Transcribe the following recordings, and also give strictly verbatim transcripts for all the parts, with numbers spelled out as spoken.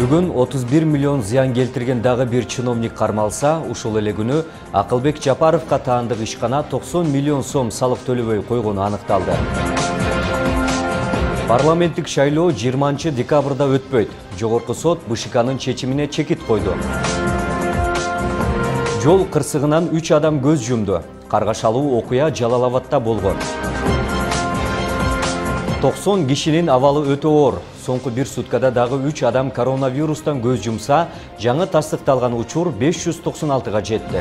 Бүгүн отуз бир миллион зыян келтирген дагы бир чиновник кармалса, ушул эле күнү Акылбек Жапаровго таандык ишкана токсон миллион сом салык төлөбөй койгону аныкталды. Парламенттик шайлоо жыйырманчы декабрда өтпөйт. Жогорку сот БШКнын чечимине чекит койду. Жол кырсыгынан үч адам көз жумду. Каргашалуу окуя Жалал Абадта болгон. токсон кишинин абалы өтө оор. Соңку бир суткада дагы үч адам коронавирустан көз жумса, жаңы тастыкталган учур беш жүз токсон алтыга жетти.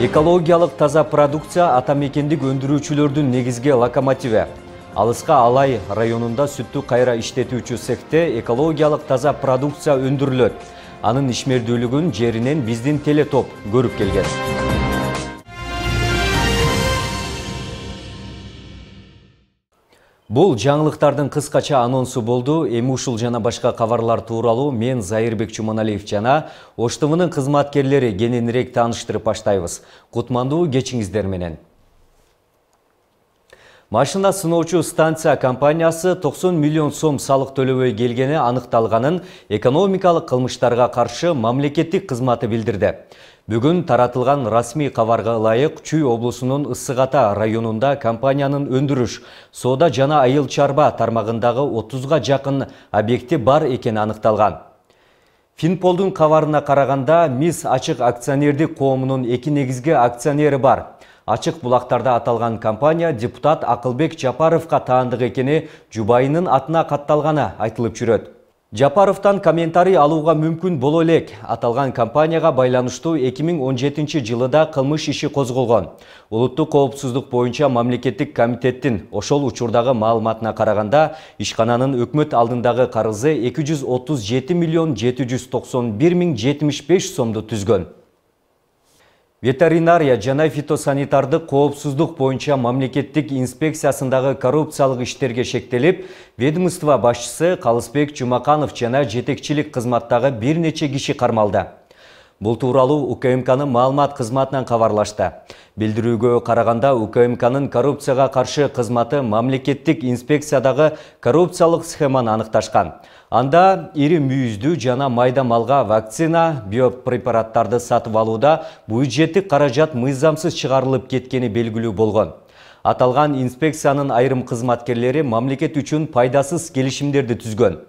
Экологиялык таза продукция ата мекендик өндүрүүчүлөрдүн негизги локомотиви. Алыска Алай районунда сүттү кайра иштетүүчү цехте экологиялык таза продукция өндүрүлөт. Анын ишмердүүлүгүн жеринен биздин телетоп көрүп келген. Бул жаңылыктардын кыскача анонсу болду. Эми ушул жана башка кабарлар тууралуу мен Зайырбек Чуманалиев жана Ош Т В'нын кызматкерлери кененирээк тааныштырып баштайбыз. Кутмандуу кечиңиздер менен. Машина сыноочу станция компаниясы токсон миллион сом салык төлөбөй келгени аныкталганын экономикалык кылмыштарга каршы мамлекеттик кызматы билдирди. Бүгүн таратылган расмий кабарга ылайык Чүй облусунун Ысык Ата районунда компаниянын өндүрүш, соода жана айыл чарба тармагындагы отузга жакын объекти бар экени аныкталган. Финполдун кабарына караганда МИС Ачык акционердик коомунун эки негизги акционери бар. Ачык булактарда аталган компания депутат Акылбек Жапаровго таандык экени жубайынын атына катталганы айтылып жүрөт. Жапаровтан комментарий алууга мүмкүн боло элек. Аталган компанияга байланыштуу эки миң он жетинчи жылыда кылмыш иши козголгон. Улуттук коопсуздук боюнча мамлекеттик комитеттин ошол учурдагы маалыматына караганда, ишкананын өкмөт алдындагы карызы эки жүз отуз жети миллион жети жүз токсон бир миң жетимиш беш сомду түзгөн. Ветеринария жана фитосанитардык коопсуздук боюнча мамлекеттик инспекциясындагы коррупциялык иштерге шектелип, ведомство башчысы Калысбек Жумаканов жана жетекчилик кызматтагы бир нече киши кармалды. Бул тууралуу У К М К'нын маалымат кызматынан кабарлашты. Билдирүүгө караганда У К М К'нын коррупцияга каршы кызматы мамлекеттик инспекциядагы коррупциялык схеманы аныкташкан. Анда ири мүйүздүү жана майда малга вакцина, биопрепараттарды сатып алууда бюджеттик каражат мыйзамсыз чыгарылып кеткени белгилүү болгон. Аталган инспекциянын айрым кызматкерлери мамлекет үчүн пайдасыз келишимдерди түзгөн.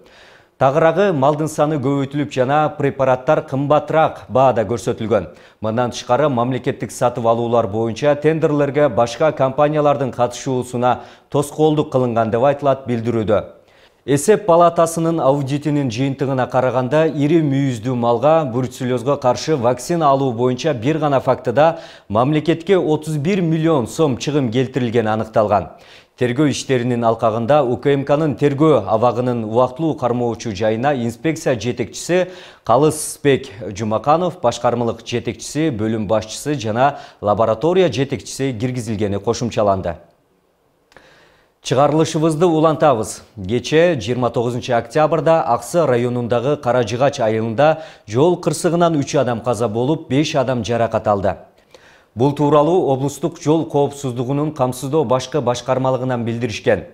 Тагыраагы малдын саны көбөйтүлүп жана препараттар кымбатыраак баада көрсөтүлгөн. Мындан тышкары мамлекеттик сатып алуулар боюнча тендерлерге башка компаниялардын катышуусуна тоскоолдук кылынган деп айтылат билдирүүдө. Эсеп палатасынын аудитинин жыйынтыгына караганда, ири мүйүздүү малга бруцеллезго каршы вакцина алуу боюнча бир гана фактыда мамлекетке отуз бир миллион сом чыгым келтирилгени аныкталган. Тергөө иштеринин алкагында У К М К'нын тергөө абагынын убактылуу кармоочу жайына инспекция жетекчиси Калысбек Жумаканов, башкармалык жетекчиси, бөлүм башчысы жана лаборатория жетекчиси киргизилгени кошумчаланды. Чыгарылышыбызды улантабыз. Кече жыйырма тогузунчу октябрда Аксы районундагы Каражыгач айылында жол кырсыгынан үч адам каза болуп, беш адам жаракат алды. Бул тууралуу облустук жол коопсуздугунун камсыздоо башкы башкармалыгынан билдиришкен.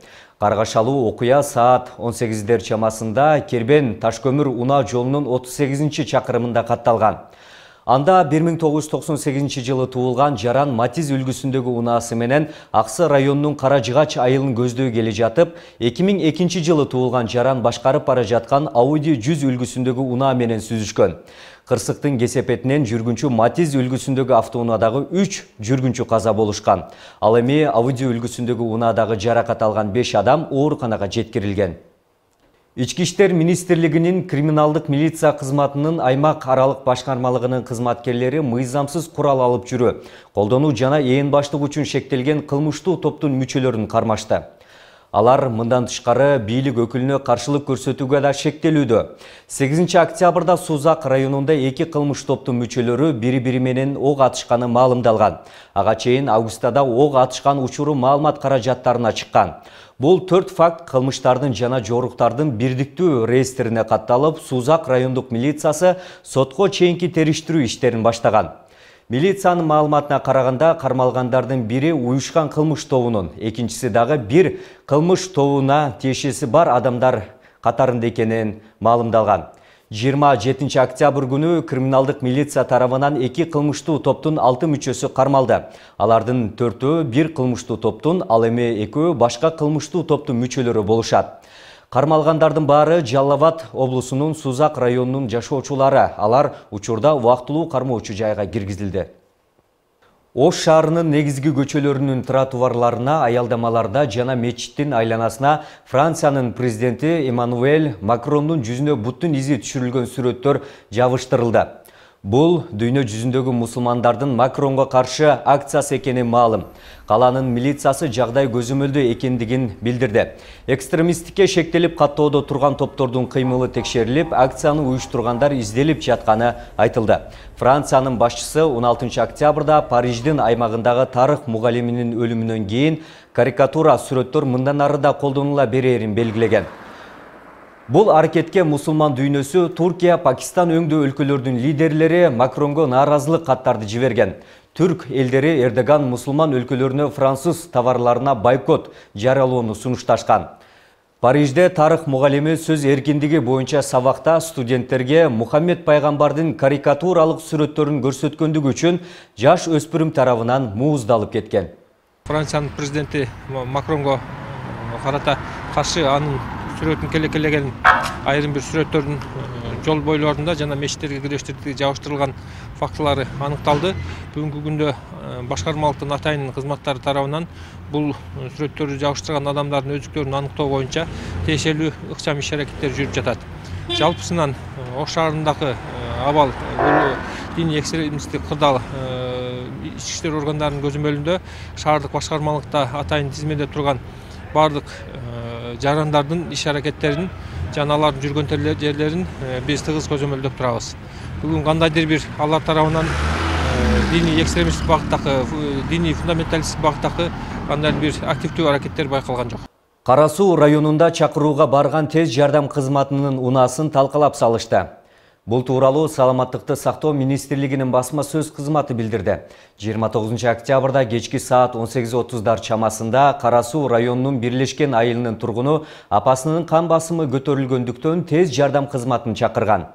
Каргашалуу окуя саат он сегиздер чамасында Кербен Ташкөмүр унаа жолунун отуз сегизинчи чакырымында катталган. Анда бир миң тогуз жүз токсон сегизинчи жылы туулган Жаран Матиз үлгүсүндөгү унаасы менен Аксы районунун Каражыгач айылын көздөй келе жатып, эки миң экинчи жылы туулган Жаран башкарып бара жаткан Ауди жүз үлгүсүндөгү унаа менен сүзүшкөн. Кырсыктын кесепетинен жүргүнчү Матиз үлгүсүндөгү автоунаадагы үч жүргүнчү каза болушкан. Ал эми Ауди үлгүсүндөгү унаадагы жаракат алган беш адам ооруканага жеткирилген. Ички иштер министрлигинин криминалдык милиция кызматынын аймак аралык башкармалыгынын кызматкерлери мыйзамсыз курал алып жүрүү, колдонуу жана ээн баштык үчүн шектелген кылмыштуу топтун мүчөлөрүн кармашты. Алар мындан тышкары бийлик өкүлүнө каршылык көрсөтүүгө да шектелүүдө. сегизинчи октябрда Сузак районунда эки кылмыш топтун мүчөлөрү бири-бири менен ок атышканы маалымдалган. Ага чейин августада ок атышкан учуру маалымат каражаттарына чыккан. Бул төрт факт кылмыштардын жана жоруктардын бирдиктүү реестрине катталып, Сузак райондук милициясы сотко чейинки териштирүү иштерин баштаган. Милициянын маалыматына караганда, кармалгандардын бири уюшкан кылмыш тобунун, экинчиси дагы бир кылмыш тобуна тиешеси бар адамдар катарында экенин маалымдалган. жыйырма жетинчи октябрь күнү криминалдык милиция тарабынан эки кылмыштуу топтун алты мүчөсү кармалды. Алардын төртөө бир кылмыштуу топтун, ал эми экөө башка кылмыштуу топтун мүчөлөрү болушат. Кармалгандардын баары Жалал Абад облусунун Сузак районунун жашоочулары. Алар учурда убактылуу кармоочу жайга киргизилди. Ош шаарынын негизги көчөлөрүнүн тротуарларына, аялдамаларда жана мечиттин айланасына Франциянын президенти Эммануэль Макрондун жүзүнө буттун изи түшүрүлгөн сүрөттөр жабыштырылды. Бул дүйнө жүзүндөгү мусулмандардын Макронго каршы акциясы экени маалым. Каланын милициясы жагдай көзөмөлдүү экендигин билдирди. Экстремисттикке шектелип каттоодо турган топтордун кыймылы текшерилип, акцияны уюштургандар изделип жатканы айтылды. Франциянын башчысы он алтынчы октябрда Париждин аймагындагы тарых мугалиминин өлүмүнөн кийин карикатура сүрөттөр мындан ары да колдонула берерин белгилеген. Бул аракетке мусулман дүйнөсү, Туркия, Пакистан өңдүү өлкөлөрдүн лидерлери Макронго нааразылык каттарды жиберген. Түрк элдери Эрдоган мусулман өлкөлөрүнө француз товарларына бойкот жарыялоону сунушташкан. Парижде тарых мугалими сөз эркиндиги боюнча сабакта студенттерге Мухаммед пайгамбардын карикатуралык сүрөттөрүн көрсөткөндүгү үчүн жаш өспүрүм тарабынан мууздалып кеткен. Франциянын президенти Макронго карата каршы анын сүрөтүн келекелеген айрым бир сүрөттөрдүн жол бойлорунда жана мечиттерге кирiştirди жабыштырылган фактылары аныкталды. Бүгүнкү күндө башкармалыктын атайын кызматтары тарабынан бул сүрөттөрдү жабыштырган адамдардын өздүктөрүн аныктоо боюнча тиешелүү ыкчам иш аракеттер жүрүп жатат. Жалпысынан Ош шаарындагы абал бул диний экстремисттик кырдаал ички иштер органдарынын көзөмөлүндө шаардык башкармалыкта атайын тизмеде турган бардык жарандардын иш аракеттерин жана алардын жүргөн жерлерин биз тыгыз көзөмөлдөп турабыз. Бүгүн кандайдыр бир алар тарабынан диний экстремисттик багыттагы, диний фундаменталисттик багыттагы кандайдыр бир активдүү аракеттер байкалган жок. Кара Суу районунда чакырууга барган тез жардам кызматынын унаасын талкалап салышты. Бул тууралуу Саламаттыкты сактоо министрлигинин басма сөз кызматы билдирди. жыйырма тогузунчу октябрда кечки саат он сегиз отуздар чамасында Кара Суу районунун Бирлешкен айылынын тургуну апасынын кан басымы көтөрүлгөндүктөн тез жардам кызматын чакырган.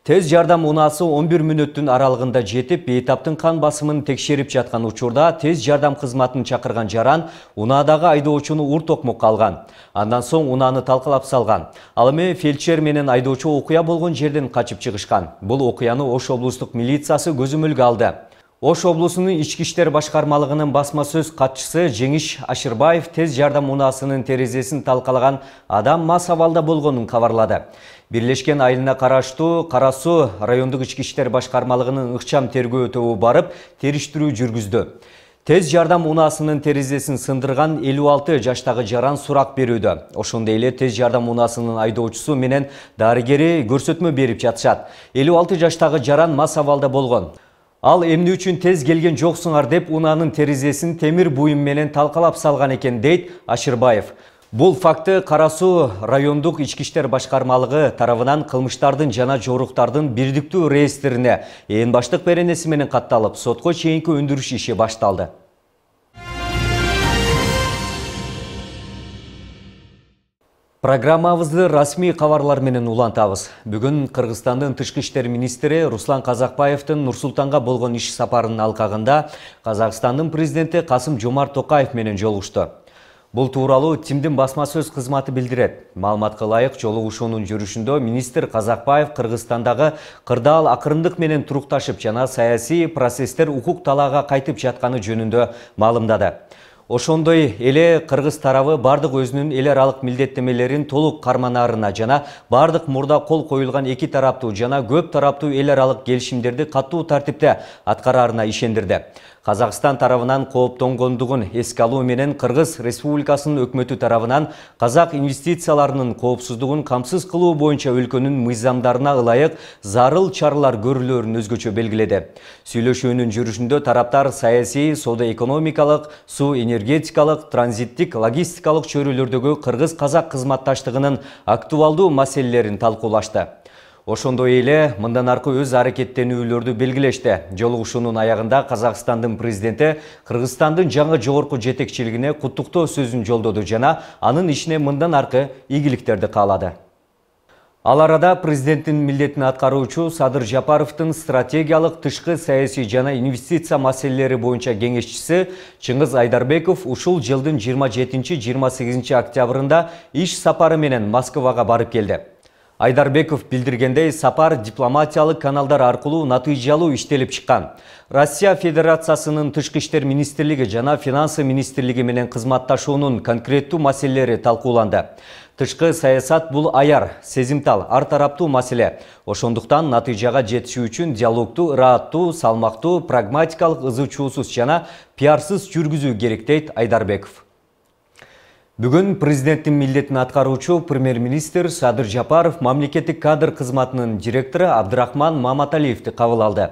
Тез жардам унаасы он бир мүнөттүн аралыгында жетип, бейтаптын кан басымын текшерип жаткан учурда тез жардам кызматын чакырган жаран унаадагы айдоочуну ур токмокко алган. Андан соң унааны талкалап салган. Ал эми фельдшер менен айдоочу окуя болгон жерден качып чыгышкан. Бул окуяны Ош облустук милициясы көзөмөлгө алды. Ош облусунун ички иштер башкармалыгынын басма сөз катчысы Жеңиш Ашырбаев тез жардам унаасынын терезесин талкалаган адам мас абалда болгонун кабарлады. Бирлешкен айылына караштуу Кара Суу райондук ички иштер башкармалыгынын ыкчам тергөө тобу барып, териштирүү жүргүздү. Тез жардам унаасынын терезесин сындырган элүү алты жаштагы жаран сурак берүүдө. Ошондой эле тез жардам унаасынын айдоочусу менен дарыгери көрсөтмө берип жатышат. элүү алты жаштагы жаран мас абалда болгон. Ал эмне үчүн тез келген жоксуңар деп унаанын терезесин темир буюм менен талкалап салган экен, дейт Ашырбаев. Бул факты Кара Суу райондук ички иштер башкармалыгы тарабынан кылмыштардын жана жоруктардын бирдиктүү реестрине ээн баштык беренеси менен катталып, сотко чейинки өндүрүш иши башталды. Программабызды расмий кабарлар менен улантабыз. Бүгүн Кыргызстандын тышкы иштер министри Руслан Казакбаевдин Нур-Султанга болгон иш сапарынын алкагында Казакстандын президенти Касым-Жомарт Токаев менен жолугушту. Бул тууралуу ТИМдин басма сөз кызматы билдирет. Маалыматка ылайык, жолугушуунун жүрүшүндө министр Казакбаев Кыргызстандагы кырдаал акырындык менен турукташып жана саясий процесстер укук талаага кайтып жатканы жөнүндө маалымдады. Ошондой эле кыргыз тарабы бардык өзүнүн эл аралык милдеттемелерин толук карманаарына жана бардык мурда кол коюлган эки тараптуу жана көп тараптуу эл аралык келишимдерди катуу тартипте аткараарына ишендирди. Казакстан тарабынан кооптонгондугун эске алуу менен Кыргыз Республикасынын өкмөтү тарабынан казак инвестицияларынын коопсуздугун камсыз кылуу боюнча өлкөнүн мыйзамдарына ылайык зарыл чаралар көрүлөөрүн өзгөчө белгиледи. Сүйлөшүүнүн жүрүшүндө тараптар саясий, соода-экономикалык, суу энергетикалык, транзиттик, логистикалык чөйрөлөрдөгү кыргыз-казак кызматташтыгынын актуалдуу маселелерин талкуулашты. Ошондой эле мындан аркы өз аракеттенүүлөрдү белгилешти. Жолугушуунун аягында Казакстандын президенти Кыргызстандын жаңы жогорку жетекчилигине куттуктоо сөзүн жолдоду жана анын ишине мындан аркы ийгиликтерди каалады. Ал арада президенттин милдетин аткаруучу Садыр Жапаровдун стратегиялык тышкы саясий жана инвестиция маселелери боюнча кеңешчиси Чыңгыз Айдарбеков ушул жылдын жыйырма жетинчи жыйырма сегизинчи октябрында иш сапары менен Москвага барып келди. Айдарбеков билдиргендей, сапар дипломатиялык каналдар аркылуу натыйжалуу иштелип чыккан. Россия Федерациясынын Тышкы иштер министрлиги жана Финансы министрлиги менен кызматташуунун конкреттүү маселелери талкууланды. Тышкы саясат бул аяр, сезимтал, ар тараптуу маселе. Ошондуктан натыйжага жетишүү үчүн диалогтуу, ырааттуу, салмактуу, прагматикалык, ызы-чуусуз жана пиарсыз жүргүзүү керек дейт Айдарбеков. Бүгүн президенттин милдетин аткаруучу премьер-министр Садыр Жапаров мамлекеттик кадр кызматынын директору Абдрахман Маматалиевди кабыл алды.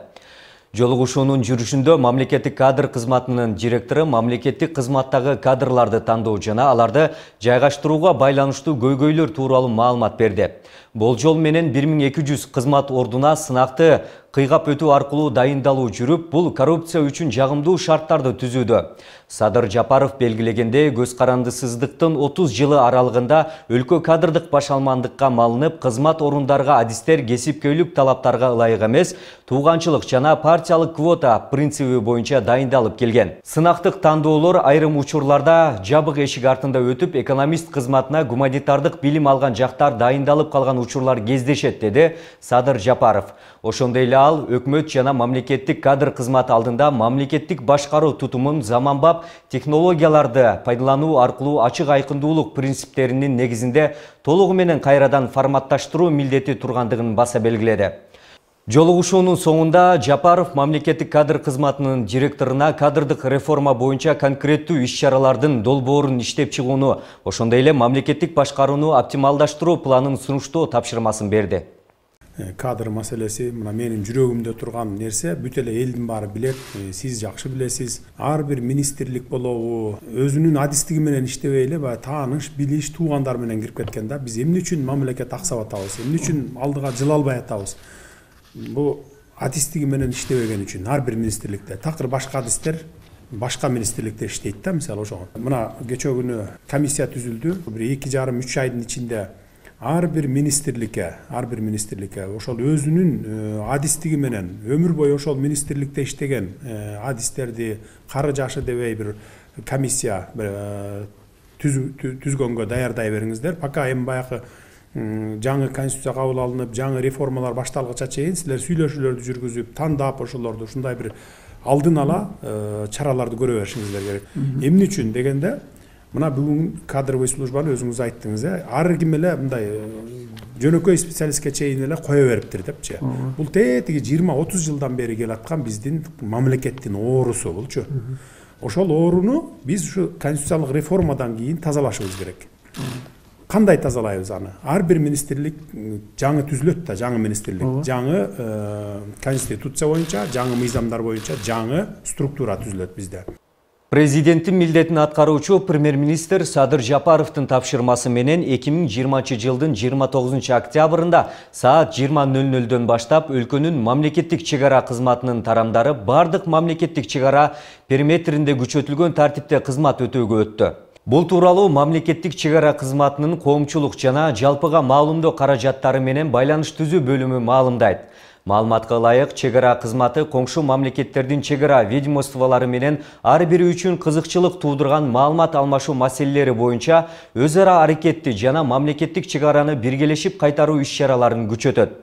Жолугушуунун жүрүшүндө мамлекеттик кадр кызматынын директору мамлекеттик кызматтагы кадрларды тандоо жана аларды жайгаштырууга байланыштуу көйгөйлөр тууралуу маалымат берди. Болжол менен бир миң эки жүз кызмат ордуна сынакты кыйгап өтүү аркылуу дайындалуу жүрүп, бул коррупция үчүн жагымдуу шарттарды түзүүдө. Садыр Жапаров белгилегенде, көз карандысыздыктын отуз жылы аралыгында өлкө кадрдык башалмандыкка малынып, кызмат орундарга адистер кесипкөйлүк талаптарга ылайык эмес, тууганчылык жана партиялык квота принциби боюнча дайындалып келген. Сынактык тандоолор айрым учурларда жабык эшик артында өтүп, экономист кызматына гуманитардык билим алган жактар дайындалып калган учурлар кездешет, деди Садыр Жапаров. Ошондой эле ал өкмөт жана мамлекеттик кадр кызматы алдында мамлекеттик башкаруу тутумун заманбап технологияларды пайдалануу аркылуу ачык айкындуулук принциптеринин негизинде толугу менен кайрадан форматташтыруу милдети тургандыгын баса белгиледи. Жолугушуунун соңунда Жапаров мамлекеттик кадр кызматынын директоруна кадрдык реформа боюнча конкреттүү иш-чаралардын долбоорун иштеп чыгууну, ошондой эле мамлекеттик башкарууну оптималдаштыруу планын сунуштоо тапшырмасын берди. Кадр маселеси мына менин жүрөгүмдө турган нерсе, бүт эле элдин баары билет, сиз жакшы билесиз. Ар бир министрлик болобу, өзүнүн адистиги менен иштебей эле баягы тааныш, билиш, туугандар менен кирип кеткен да. Биз эмне үчүн мамлекет аксап атабыз, эмне үчүн алдыга жыла албай атабыз? Бул адистиги менен иштебеген үчүн ар бир министрликте. Такыр башка адистер башка министрликте иштейт да, мисалы ошого. Мына кечээ күнү комиссия түзүлдү. Бир эки жарым үч айдын ичинде ар бир министрликке, ар бир министрликке ошол өзүнүн адистиги менен өмүр бою ошол министрликте иштеген адистерди кары жашы дебей бир комиссия түзгөнгө даярдай бериңиздер. Пока эми баягы жаңы конституция кабыл алынып, жаңы реформалар башталгыча чейин силер сүйлөшүүлөрдү жүргүзүп, тандап ошолорду ушундай бир алдын ала чараларды көрө беришиңиздер керек. Эмне үчүн дегенде, мына бүгүн кадровый службаны өзүңүз айттыңыз, э, ар ким эле мындай жөнөкөй специалистке чейин эле кое бериптир депчи. Бул тетиги жыйырма отуз жылдан бери келаткан биздин мамлекеттин оорусу булчу. Ошол ооруну биз ушу конституциялык реформадан кийин тазалашыбыз керек. Кандай тазалайбыз аны? Ар бир министрлик жаңы түзүлөт да, жаңы министрлик, жаңы конституция боюнча, жаңы мыйзамдар боюнча жаңы структура түзүлөт бизде. Президенттин милдетин аткаруучу премьер-министр Садыр Жапаровдун тапшырмасы менен эки миң жыйырманчы жылдын жыйырма тогузунчу октябрында саат жыйырма нөл нөлдөн баштап өлкөнүн мамлекеттик чек ара кызматынын тарамдары бардык мамлекеттик чек ара периметринде күчөтүлгөн тартипте кызмат өтөөгө өттү. Бул тууралуу мамлекеттик чек ара кызматынын коомчулук жана жалпыга маалымдоо каражаттары менен байланыш түзүү бөлүмү маалымдайт. Маалыматка ылайык, чек ара кызматы коңшу мамлекеттердин чек ара ведомстволору менен ар бири үчүн кызыкчылык туудурган маалымат алмашуу маселелери боюнча өз ара аракетти жана мамлекеттик чек араны биргелешип кайтаруу иш-чараларын күчөтөт.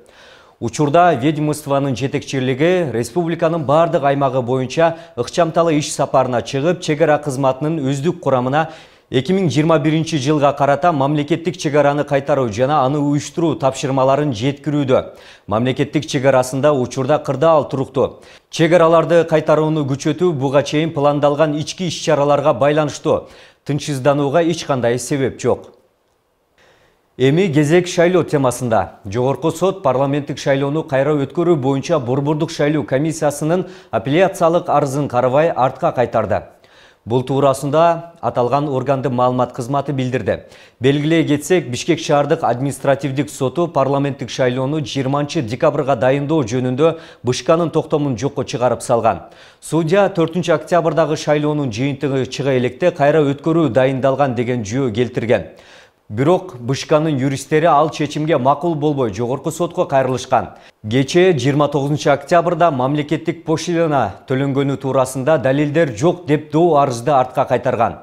Учурда ведомствонун жетекчилиги республиканын бардык аймагы боюнча ыкчамталы иш сапарына чыгып, чек ара кызматынын өздүк курамына эки миң жыйырма биринчи жылга карата мамлекеттик чек араны кайтаруу жана аны уюштуруу тапшырмаларын жеткирүүдө. Мамлекеттик чек арасында учурда кырдаал туруктуу. Чек араларды кайтарууну күчөтүү буга чейин пландалган ички иш-чараларга байланыштуу. Тынчсызданууга эч кандай себеп жок. Эми кезек шайлоо темасында. Жогорку сот парламенттик шайлоону кайра өткөрүү боюнча Борбордук шайлоо комиссиясынын апелляциялык арызын карабай артка кайтарды. Бул туурасында аталган органдын маалымат кызматы билдирди. Белгилей кетсек, Бишкек шаардык административдик соту парламенттик шайлоону жыйырманчы декабрга дайындоо жөнүндө Бышканын токтомун жокко чыгарып салган. Судья төртүнчү октябрдагы шайлоонун жыйынтыгы чыга электе кайра өткөрүү дайындалган деген жүйө келтирген. Бирок Бышканын юристтери ал чечимге макул болбой жогорку сотко кайрылышкан. Кечээ жыйырма тогузунчу октябрда мамлекеттик пошлина төлөнгөнү туурасында далилдер жок деп доо арызды артка кайтарган.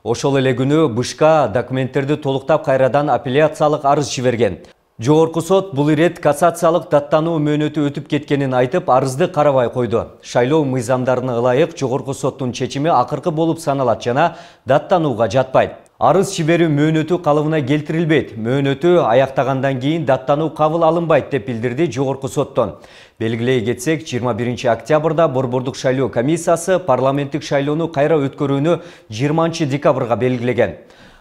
Ошол эле күнү Бышка документтерди толуктап кайрадан апелляциялык арыз жиберген. Жогорку сот бул ирет кассациялык даттануу мөөнөтү өтүп кеткенин айтып, арызды карабай койду. Шайлоо мыйзамдарына ылайык жогорку соттун чечими акыркы болуп саналат жана даттанууга жатпайт. Арыз жиберүү мөөнөтү калыбына келтирилбейт. Мөөнөтү аяктагандан кийин даттануу кабыл алынбайт деп билдирди жогорку соттон. Белгилей кетсек, жыйырма биринчи октябрда Борбордук шайлоо комиссиясы парламенттик шайлоону кайра өткөрүүнү жыйырманчы декабрга белгилеген.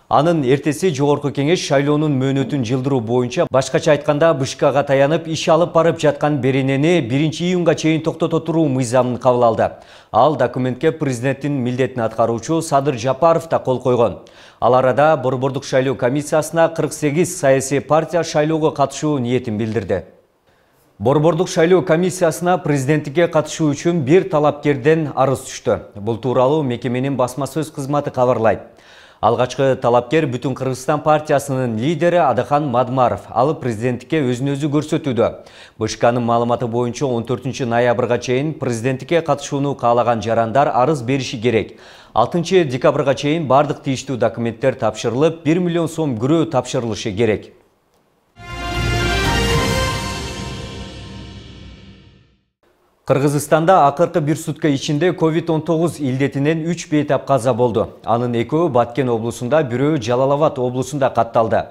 Анын эртеси жогорку кеңеш шайлоонун мөөнөтүн жылдыруу боюнча, башкача айтканда, Бышкага таянып иш алып барып жаткан беренени биринчи июнга чейин токтото туруу мыйзамын кабыл алды. Ал документке президенттин милдетин аткаруучу Садыр Жапаров да кол койгон. Ал арада Борбордук шайлоо комиссиясына кырк сегиз саясий партия шайлоого катышуу ниетин билдирди. Борбордук шайлоо комиссиясына президенттикке катышуу үчүн бир талапкерден арыз түштү. Бул тууралуу мекеменин басма сөз кызматы кабарлайт. Алгачкы талапкер Бүтүн Кыргызстан партиясынын лидери Адахан Мадмаров. Ал президенттикке өзүн өзү көрсөтүүдө. Бышканын маалыматы боюнча он төртүнчү ноябрга чейин президенттикке катышууну каалаган жарандар арыз бериши керек. алтынчы декабрга чейин бардык тийиштүү документтер тапшырылып, бир миллион сом күрөө тапшырылышы керек. Кыргызстанда акыркы бир сутка ичинде ковид он тогуз илдетинен үч бейтап каза болду. Анын экөө Баткен облусунда, бирөө Жалал Абад облусунда катталды.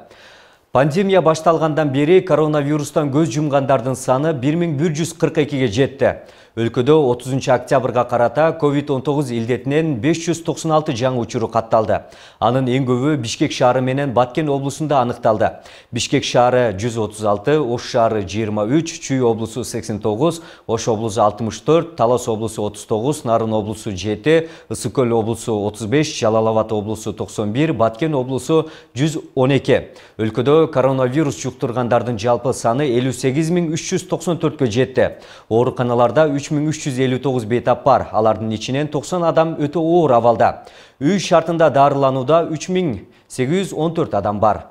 Пандемия башталгандан бери коронавирустан көз жумгандардын саны бир миң бир жүз кырк экиге жетти. Өлкөдө отузунчу октябрга карата ковид он тогуз илдетинен беш жүз токсон алты жаңы учуру катталды. Анын эң көбү Бишкек шаары менен Баткен облусунда аныкталды. Бишкек шаары жүз отуз алты, Ош шаары жыйырма үч, Чүй облусу сексен тогуз, Ош облусу алтымыш төрт, Талас облусу отуз тогуз, Нарын облусу жети, Ысык көл облусу отуз беш, Жалал Абад облусу токсон бир, Баткен облусу жүз он эки. Өлкөдө коронавирус жуктургандардын жалпы саны элүү сегиз миң үч жүз токсон төрткө жетти. Ооруканаларда үч миң үч жүз элүү тогуз бейтап бар. Алардын ичинен токсон адам өтө оор абалда. Үй шартында дарыланууда үч миң сегиз жүз он төрт адам бар.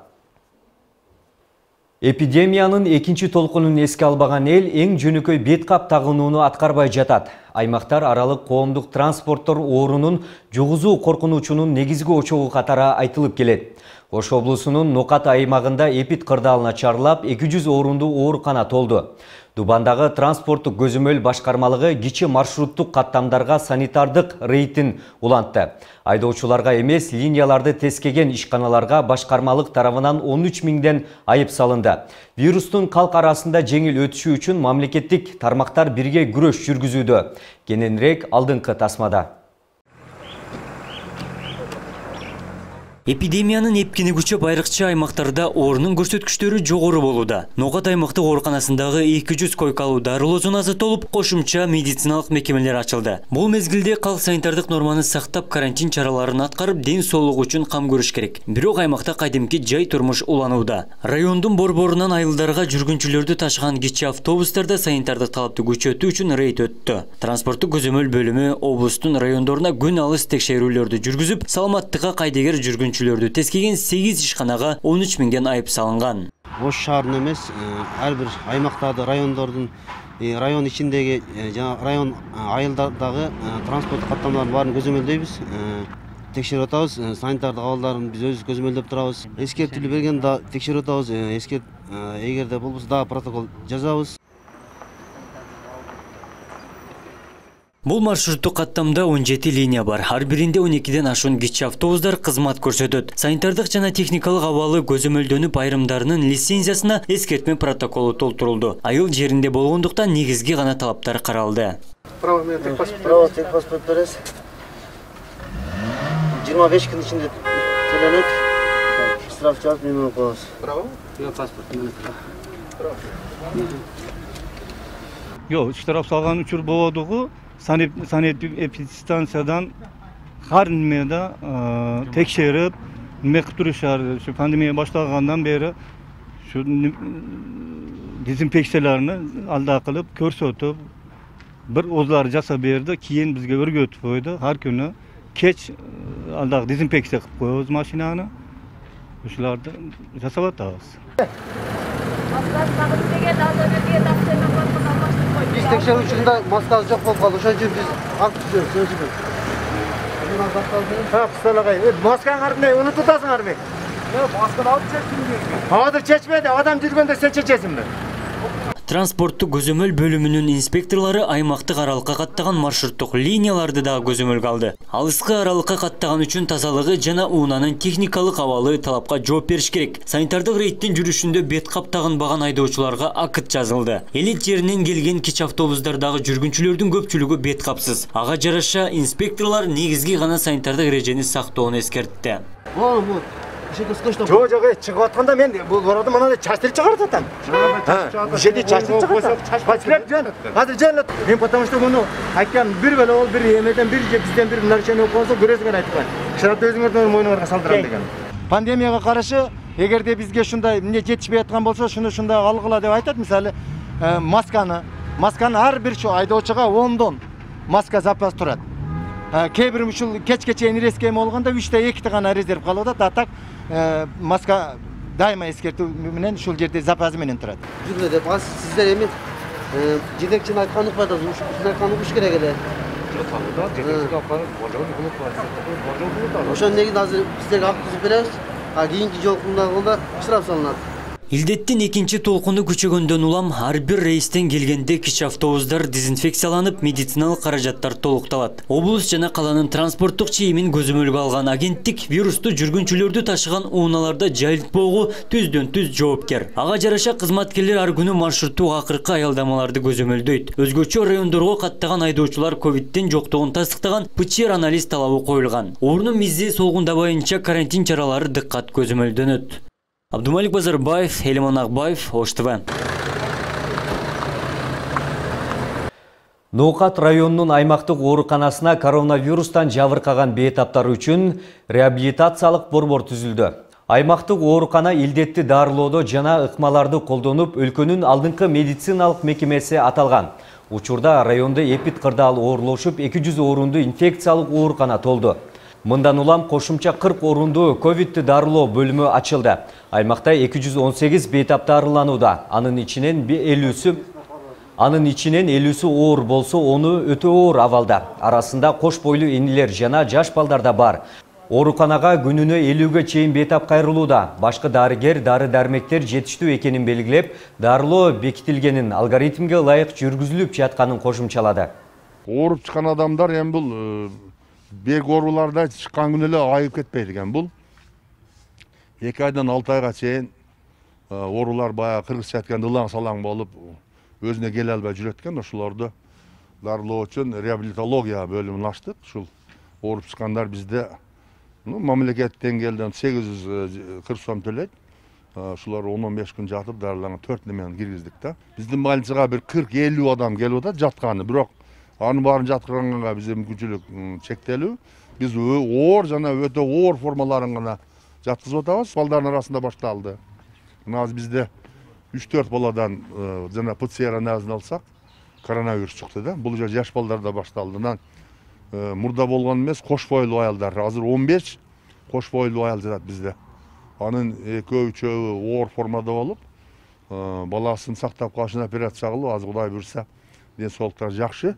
Эпидемиянын экинчи толкунун эске албаган эл эң жөнөкөй бет кап тагынууну аткарбай жатат. Аймактар аралык коомдук транспорттор оорунун жугузуу коркунучунун негизги очогу катары айтылып келет. Ош облусунун Нокат аймагында эпид кырдаалына чарылап, эки жүз орунду оорукана толду. Дубандагы транспорттук көзөмөл башкармалыгы кичи маршруттук каттамдарга санитардык рейдин улантты. Айдоочуларга эмес, линияларды тескеген ишканаларга башкармалык тарабынан он үч миңден айып салынды. Вирустун калк арасында жеңил өтүшү үчүн мамлекеттик тармактар бирге күрөш жүргүзүүдө. Кененирээк алдыңкы тасмада. Эпидемиянын эпкини күчөп айрыкча аймактарда оорунун көрсөткүчтөрү жогору болууда. Нокат аймактык ооруканасындагы эки жүз койкалуу дарылоо зонасы толуп, кошумча медициналык мекемелер ачылды. Бул мезгилде калк санитардык норманы сактап, карантин чараларын аткарып, ден соолугу үчүн кам көрүш керек. Бирок аймакта кайдимки жай турмуш уланууда. Райондун борборунан айылдарга жүргүнчүлөрдү ташыган кичи автобустарда санитардык талапты күчөтүү үчүн рейд өттү. Транспорттук көзөмөл бөлүмү облустун райондоруна күн алыс текшерүүлөрдү жүргүзүп, саламаттыкка кайдыгер жүргүн жүргүнчүлөрдү тескеген сегиз ишканага он үч миңден айып салынган. Ош шаарынын эмес, ар бир аймактагы райондордун, район ичиндеги жана район айылдардагы транспорттук каттамалардын баарын көзөмөлдөйбүз. Текшерип атабыз, санитардык абалдарын биз өзүбүз көзөмөлдөп турабыз. Эскертүүлү берген да текшерип атабыз. Эскерт эгерде болбосо дагы протокол жазабыз. Бул маршруттук каттамда он жети линия бар. Ар биринде он экиден ашуун кичи автобустар кызмат көрсөтөт. Санитардык жана техникалык абалы көзөмөлдөнүп, айрымдарынын лицензиясына эскертме протоколу толтурулду. Айыл жеринде болгондуктан негизги гана талаптар каралды. Право техпаспорт бересиз. жыйырма беш күн ичинде төлөнөт. Штраф жазып мени коебуз. Право? Паспорт менен. Право. Жок, штраф салган учур болодугу. Санэпидстанциядан ар немеде текшерип, неме кылып турушар. Ушу пандемия башталгандан бери ушу дезинфекцияларын алда кылып, көрсөтүп, бир озлар жасап берди, кийин бизге өргөтүп койду. Ар күнү кеч алдагы дезинфекция кылып коебуз машинаны. ушуларды жасап атабыз. Биз текшерүү учурунда маскасы жок болуп калды. Ошон үчүн биз акт түзөбүз. Масканы кардымай унутуп атасыңарбы? Масканы алып чечтиңби? Азыр чечмеди, адам жүргөндө сен чечесиңби? Транспорттук көзөмөл бөлүмүнүн инспекторлору аймактык аралыкка каттаган маршруттук линияларды дагы көзөмөлгө алды. Алыскы аралыкка каттаган үчүн тазалыгы жана унаанын техникалык абалы талапка жооп бериш керек. Санитардык рейдтин жүрүшүндө бет кап тагынбаган айдоочуларга акыт жазылды. Элит жеринен келген кич автобустардагы жүргүнчүлөрдүн көпчүлүгү бет капсыз. Ага жараша инспекторлор негизги гана санитардык эрежени сактоону эскертти. Жок, жок, чыгып атканда мен бул арада мына чачтырып чыгарып атам. Бул жерде чачтырып чыгарып. Паскелеп, азыр жөн. Мен потому что муну айткан бир беле ол бир эмеден бир же бизден бир нарушение болсо көрөсүңөр айткан. Шарапты өзүңөрдүн мойнуңарга салдырам деген. Пандемияга каршы эгерде бизге ушундай эмне жетишпей аткан болсо, шуну ушундай алгыла деп айтат. Мисалы, масканы, масканы ар бир айдоочуга ондон маска запас турат. Кээ бир ушул кечке чейин резко эме болгондо үчтө экити гана резерв калып атат. А так маска дайыма эскертүү менен ушул жерде запасы менен турат. Жүргүлө деп аз сиздер эми жетекчини айтканын укпай атасыз. Ушул айтканын укуш керек эле. Ошон негизинде азыр сиздерге акт түзүп беребиз. А кийинки жолкунда штраф салынат. Илдеттин экинчи толкуну күчөгөндөн улам ар бир рейстен келгенде кич автобустар дезинфекцияланып, медициналык каражаттар толукталат. Облус жана каланын транспорттук чейимин көзөмөлгө алган агенттик вирусту жүргүнчүлөрдү ташыган унааларда жайылтпоого түздөн түз жоопкер. Ага жараша кызматкерлер ар күнү маршруттук акыркы аялдамаларды көзөмөлдөйт. Өзгөчө райондорго каттаган айдоочулар ковидтин жоктугун тастыктаган ПЧР анализ талабы коюлган. Орнун миззи солгундабайынча карантин чаралары дыккат көзөмөлдөнөт. Абдумалик Базарбаев, Элиман Акбаев, Ош ТВ. Ноокат районунун аймактык ооруканасына коронавирустан жабыркаган бейтаптар үчүн реабилитациялык борбор түзүлдү. Аймактык оорукана илдетти дарылоодо жана ыкмаларды колдонуп, өлкөнүн алдыңкы медициналык мекемеси аталган. Учурда райондо эпид кырдаал оорлошуп, эки жүз орунду инфекциялык оорукана толду. Мындан улам кошумча кырк орунду ковидти дарылоо бөлүмү ачылды. Аймакта эки жүз он сегиз бейтап дарыланууда. Анын ичинен элүүсү Анын ичинен элүүсү оор болсо, onu өтө оор абалда. Арасында кош бойлуу энелер жана жаш балдар да бар. Ооруканага күнүнө элүүгө чейин бейтап кайрылууда. Башкы дарыгер дары-дармектер жетиштүү экенин белгилеп, дарылоо бекитилгенин, алгоритмге ылайык жүргүзүлүп жатканын кошумчалады. Ооруп чыккан адамдар эми бул бек ооруларда чыккан күнү эле айып кетпейт экен. Бул эки айдан алты айга чейин оорулар баягы кыргызча айтканда ылаң салаң болуп өзүнө келе албай жүрөт экен. Ошолорду дарылоо үчүн реабилитология бөлүмүн ачтык. Ушул ооруп чыккандар бизде мамлекеттен келген сегиз жүз кырк сом төлөйт. Ушулар он он беш күн жатып дарыланган төрт немен киргиздик да. Биздин больницага бир кырк элүү адам келип атат жатканы. Бирок анын баарын жаткырганга биздин мүмкүнчүлүк чектелүү. Биз оор жана өтө оор формаларын гана жаткызып атабыз. Балдардын арасында башталды. Мына бизде үч төрт баладан жана ПЦР анализин алсак, коронавирус чыкты да. Бул жер жаш балдарда башталды. Мурда болгон эмес, кош бойлуу аялдар. Азыр он беш кош бойлуу аял жатат бизде. Анын экөө үчөө оор формада болуп, баласын сактап калышын операция кылып, азыр Кудай буйрса, ден соолуктары жакшы.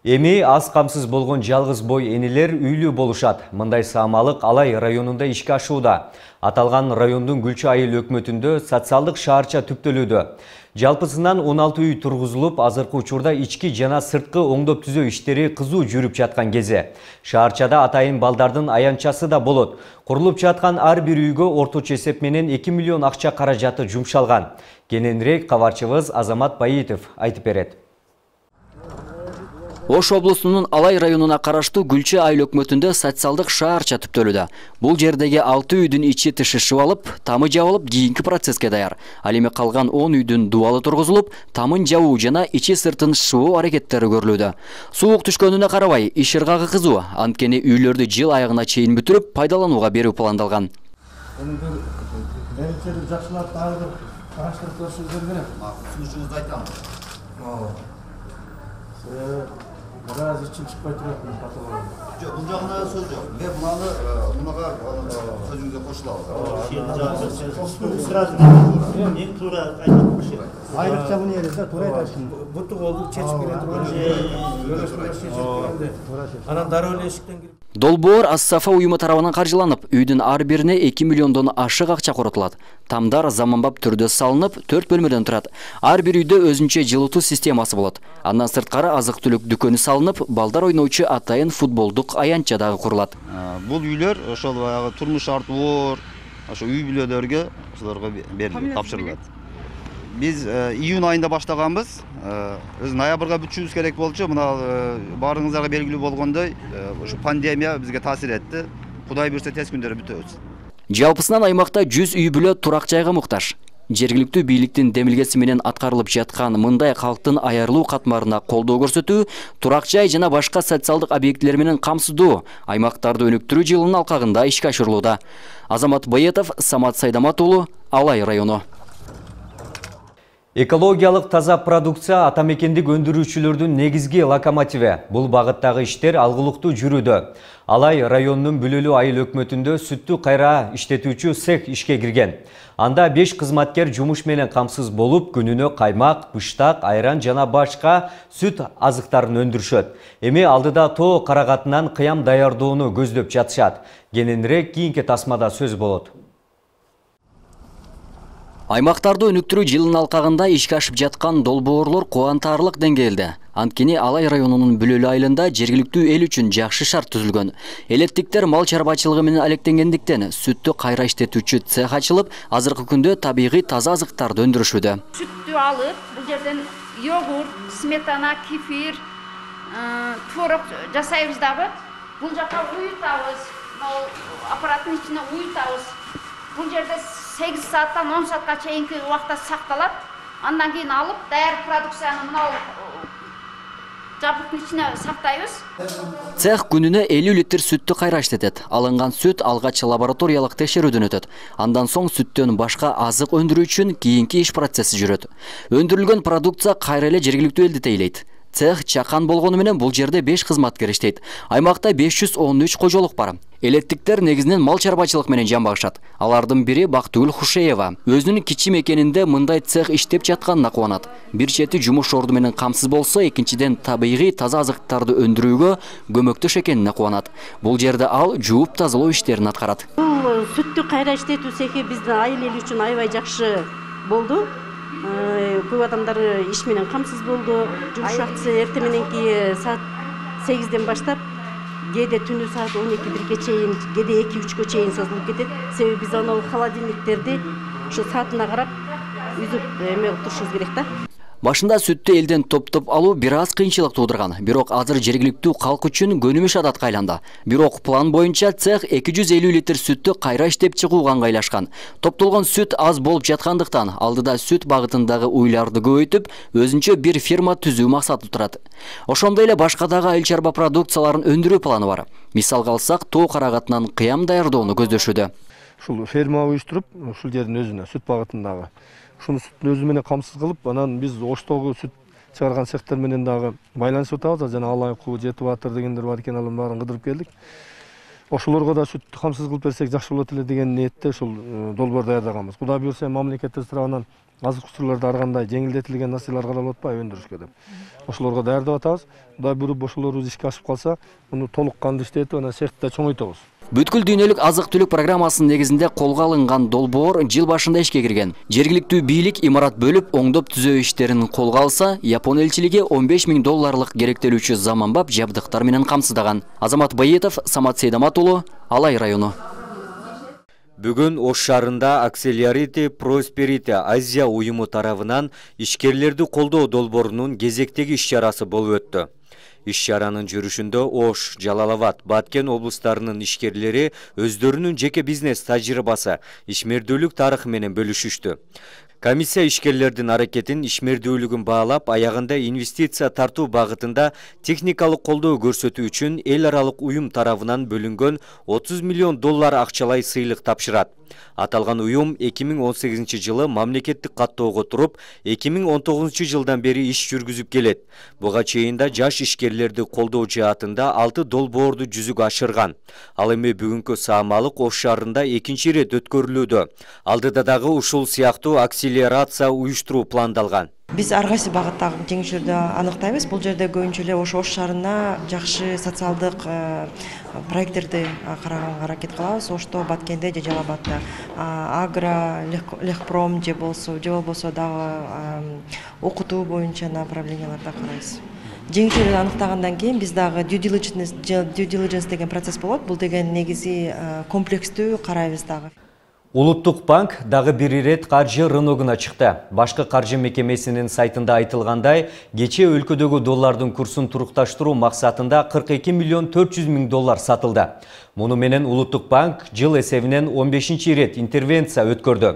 Эми аз камсыз болгон жалгыз бой энелер үйлүү болушат. Мындай саамалык Алай районунда ишке ашууда. Аталган райондун Гүлчү айыл өкмөтүндө социалдык шаарча түптөлүүдө. Жалпысынан он алты үй тургузулуп, азыркы учурда ички жана сырткы оңдоп түзөө иштери кызуу жүрүп жаткан кезде. Шаарчада атайын балдардын аянчасы да болот. Курулуп жаткан ар бир үйгө орточо эсеп менен эки миллион акча каражаты жумшалган. Кененирээк кабарчыбыз Азамат Баитов айтып берет. Ош облусунун Алай районуна караштуу Гүлчү айыл өкмөтүндө социалдык шаарча түптөлүүдө. Бул жердеги алты үйдүн ичи тышышып алып, тамы жабылып, кийинки процесске даяр. Ал эми калган он үйдүн дубалы тургузулуп, тамын жабуу жана ичи сыртын шыбуу аракеттери көрүлүүдө. Суук түшкөнүнө карабай, иш ыргагы кызуу, анткени үйлөрдү жыл айыгына чейин бүтүрүп, пайдаланууга берүү пландалган. Жакшылап дагы караштырып көрүшүңүздөр керек. Сунушуңузду айтам. Бираз ичи чын чыкпай турат каталган. Жок, бул жагына сөз жок. Мен мынаны мунага сөзүңүзгө кошулабыз. Сразу мен туура айтып коюшум. Айрыкча муну эле туура айтасың. Буту колду чечип келе турган же. Анан дароо эле эшиктен кирип. Долбоор Ас-Сафа уюму тарабынан каржыланып, үйдүн ар бирине эки миллиондон ашык акча коротулат. Тамдар заманбап түрдө салынып, төрт бөлмөдөн турат. Ар бир үйдө өзүнчө жылытуу системасы болот. Андан сырткары азык-түлүк дүкөнү салынып, балдар ойноочу атайын футболдук аянтча дагы курулат. Бул үйлөр ошол баягы турмуш шарты оор, ошо үй бүлөлөргө ошолорго берилет, тапшырылат. Биз июнь айында баштаганбыз. Өз ноябрга бүтүшүбүз керек болчу. Мына баарыңыздарга белгилүү болгондой, ушу пандемия бизге таасир этти. Кудай буйрса тез күндөрү бүтөбүз. Жалпысынан аймакта жүз үй бүлө турак жайга муктаж. Жергиликтүү бийликтин демилгеси менен аткарылып жаткан мындай калктын аярлуу катмарына колдоо көрсөтүү, турак жай жана башка социалдык объектилер менен камсыздоо аймактарды өнүктүрүү жылынын алкагында ишке ашырылууда. Азамат Байетов, Самат Сайдамат уулу, Алай району. Экологиялык таза продукция атамекендик өндүрүүчүлөрдүн негизги локомотиви. Бул багыттагы иштер алгылыктуу жүрүүдө. Алай районунун Бүлөлүү айыл өкмөтүндө сүттү кайра иштетүүчү цех ишке кирген. Анда беш кызматкер жумуш менен камсыз болуп, күнүнө каймак, быштак, айран жана башка сүт азыктарын өндүрүшөт. Эми алдыда тоо карагатынан кыям даярдоону көздөп жатышат. Кененирээк кийинки тасмада сөз болот. Аймактарды өнүктүрүү жылынын алкагында ишке ашып жаткан долбоорлор кубантарлык деңгээлде. Анткени Алай районунун Бүлөлүү айылында жергиликтүү эл үчүн жакшы шарт түзүлгөн. Элеттиктер мал чарбачылыгы менен алектенгендиктен сүттү кайра иштетүүчү цех ачылып, азыркы күндө табигый таза азыктарды өндүрүшүүдө. Сүттү алып, бул жерден йогурт, сметана, кефир, творог жасайбыз дагы. Бул жака уютабыз, аппараттын ичине уютабыз. Бул жерде сегиз сааттан он саатка чейинки убакта сакталат. Андан кийин алып, даяр продукцияны мынау жабдыктын ичине сактайбыз. Цех күнүнө элүү литр сүттү кайра иштетет. Алынган сүт алгач лабораториялык текшерүүдөн өтөт. Андан соң сүттөн башка азык өндүрүү үчүн кийинки иш процесси жүрөт. Өндүрүлгөн продукция кайра эле жергиликтүү элди тейлейт. Цех чакан болгону менен бул жерде беш кызматкер иштейт. Аймакта беш жүз он үч кожолук бар. Элеттиктер негизинен мал чарбачылык менен жан багышат. Алардын бири Бактыгүл Хушеева. Өзүнүн кичи мекенинде мындай цех иштеп жатканына кубанат. Бир чети жумуш орду менен камсыз болсо, экинчиден табигый таза азыктарды өндүрүүгө көмөктөш экенине кубанат. Бул жерде ал жууп тазалоо иштерин аткарат. Бул сүттү кайра иштетүү цехи биздин айыл эл үчүн аябай жакшы болду. Көп адамдар иш менен камсыз болду. Жумуш убактысы эртең мененки саат сегизден баштап кээде түнү саат он эки бирге чейин, кээде эки үчкө чейин созулуп кетет. Себеби биз анау холодильниктерди ошо саатына карап үзүп эме турушубуз керек да. Башында сүттү элден топтоп алуу бир аз кыйынчылык туудурган, бирок азыр жергиликтүү калк үчүн көнүмүш адатка айланды. Бирок план боюнча цех эки жүз элүү литр сүттү кайра иштеп чыгууга ыңгайлашкан. Топтолгон сүт аз болуп жаткандыктан алдыда сүт багытындагы уйларды көбөйтүп, өзүнчө бир фирма түзүү максаты турат. Ошондой эле башка дагы айыл чарба продукцияларын өндүрүү планы бар. Мисалга алсак, тоо карагатынан кыям даярдоону көздөшүүдө. Ушул ферма уюштуруп, ушул жердин өзүнө сүт багытындагы ушуну сүттүн өзү менен камсыз кылып, анан биз Оштогу сүт чыгарган цехтер менен дагы байланышып атабыз. Жана Алай Куу, Жети Батыр дегендер бар экен, алардын баарын кыдырып келдик. Ошолорго да сүттү камсыз кылып берсек жакшы болот эле деген ниетте ушул долбоор даярдаганбыз. Кудай буйрса мамлекеттин тарабынан азык-түлүктөрдө ар кандай жеңилдетилген нерселер каралып атпайбы өндүрүшкө деп. Ошолорго даярдап атабыз. Кудай буйруп ошолорубуз ишке ашып калса, муну толук кандуу иштетип, анан цехти чоңойтобуз. Бүткүл дүйнөлүк азык-түлүк программасынын негизинде колго алынган долбоор жыл башында ишке кирген. Жергиликтүү бийлик имарат бөлүп, оңдоп түзөө иштерин колго алса, Япон элчилиги он беш миң долларлык керектелүүчү заманбап жабдыктар менен камсыздаган. Азамат Байетов, Самат Сейдамат уулу, Алай району. Бүгүн Ош шаарында Accelerate Prosperity Азия уюму тарабынан ишкерлерди колдоо долбоорунун кезектеги иш-чарасы болуп өттү. Иш-чаранын жүрүшүндө Ош, Жалал-Абад, Баткен облустарынын ишкерлери өздөрүнүн жеке бизнес тажрыйбасы, ишмердүүлүк тарыхы менен бөлүшүштү. Комиссия ишкерлердин аракетин, ишмердүүлүгүн баалап, аягында инвестиция тартуу багытында техникалык колдоо көрсөтүү үчүн эл аралык уюм тарабынан бөлүнгөн отуз миллион доллар акчалай сыйлык тапшырат. Аталган уюм эки миң он сегизинчи жылы мамлекеттик каттоого туруп, эки миң он тогузунчу жылдан бери иш жүргүзүп келет. Буга чейин да жаш ишкерлерди колдоо жаатында алты долбоорду жүзүгө ашырган. Ал эми бүгүнкү Саамалык Ош шаарында экинчи ирет өткөрүлүүдө. Алдыда дагы ушул сыяктуу акселерация уюштуруу пландалган. Биз ар кайсы багыттагы жеңишүүлөрдү аныктайбыз. Бул жерде көбүнчө эле Ош Ош шаарына жакшы социалдык проекттерди караганга аракет кылабыз. Ошто, Баткенде же Жалал Абадта агро, лехпром же болсо, же болбосо дагы окутуу боюнча направленияларда карайбыз. Жеңишүүлөрдү аныктагандан кийин биз дагы due diligence, due diligence деген процесс болот. Бул деген негизи комплекстүү карайбыз дагы. Улуттук банк дагы бир ирет каржы рыногуна чыкты. Башкы каржы мекемесинин сайтында айтылгандай, кечээ өлкөдөгү доллардын курсун турукташтыруу максатында кырк эки миллион төрт жүз миң доллар сатылды. Муну менен Улуттук банк жыл эсебинен он бешинчи ирет интервенция өткөрдү.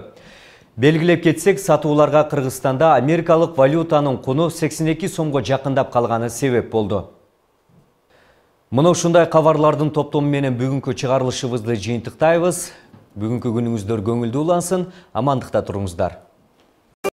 Белгилеп кетсек, сатууларга Кыргызстанда америкалык валютанын куну сексен эки сомго жакындап калганы себеп болду. Мына ушундай кабарлардын топтому менен бүгүнкү чыгарылышыбызды жыйынтыктайбыз. Бүгүнкү күнүңүздөр көңүлдүү улансын, амандыкта туруңуздар.